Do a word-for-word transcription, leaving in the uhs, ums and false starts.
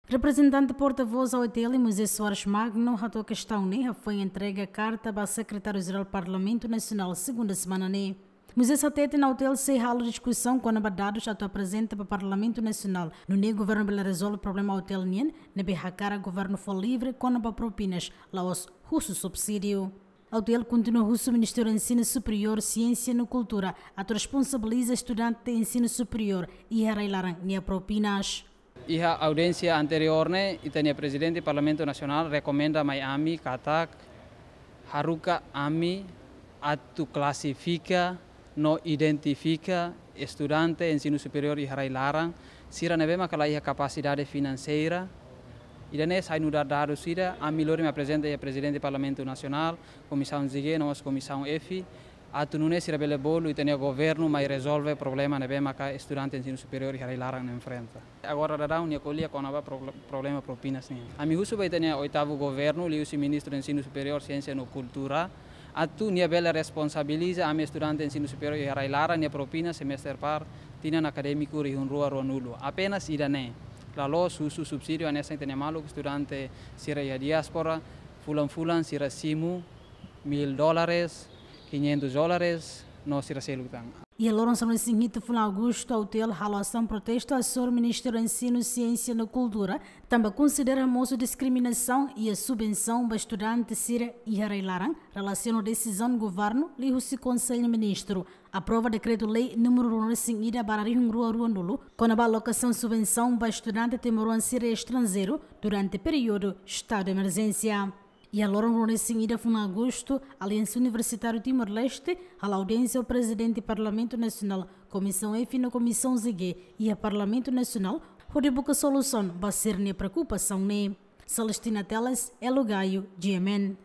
Reprezentante porta-voz A O T L, Moisés Soares Magno, hato'o kestaun ne'e hafoin entrega karta ba Sekretáriu-Jerál Parlamentu Nasionál segunda semana ne'e. Moisés hateten A O T L sei halo diskusaun kona-ba dadus atu aprezenta ba Parlamentu Nasionál, nune'e governu bele rezolve problema A O T L nian, ne'ebé hakarak governu fó livre kona-ba propinas, la'ós husu subsídiu. A O T L kontinua husu Ministériu Ensinu Superiór, Siénsia no Kultura atu responsabiliza estudante ensinu superiór iha rai-laran nia propinas. Iha audiénsia anteriór ne'e, ita-nia Prezidente Parlamentu Nasionál rekomenda mai ami katak haruka ami atu klasifika no identifika estudante ensinu superiór iha rai-laran sira ne'ebé maka la iha kapasidade finanseira. Ida-ne'e sai nu'udar dadus ida, ami lori mai aprezenta iha Prezidente Parlamentu Nasionál, Komisaun G, no mós Komisaun F, atu nune'e sira bele bolu ita-nia governu mai rezolve problema ne'ebé maka estudante ensinu superiór iha rai-laran enfrenta. Agora daudaun nia ko'alia kona-ba pro-, problema propinas nian. Ami husu ba ita-nia oitavu governu, liuhusi Ministru Ensinu Superiór, Siénsia no Kultura, atu nia bele responsabiliza ami estudante ensinu superiór iha rai-laran nia propina semester par tinan akadémiku rihun rua ruanulu. Apenas ida-ne'e. La'ós husu subsídiu hanesan ita-nia maluk estudante sira iha diáspora, fulan-fulan sira simu mil dólares, quinhentos dólares, no sira seluk tan. Iha loron sanulu-resin-hitu fulan Agostu, A O T L halo asaun protestu hasoru Ministériu Ensinu, Siénsia no Kultura, tanba konsidera mosu diskriminasaun iha subvensaun ba estudante sira iha rai-laran, relasiona ho desizaun governu liuhusi Konsellu Ministru aprova dekretu-lei númeru ruanulu-resin-ida barra rihun rua ruanulu, kona-ba alokasaun subvensaun ba estudante timoroan sira estranjeiru durante períodu estadu de emerjénsia. Iha loron ruanulu-resin-ida fulan Agostu, Aliansa Universitáriu Timor-Leste halo audiénsia ho Prezidente Parlamentu Nasionál, Komisaun F no Komisaun G iha Parlamentu Nasionál, hodi buka solusaun ba sira-nia preokupasaun ne'e. Celestina Teles, Elo Gaio, G M N.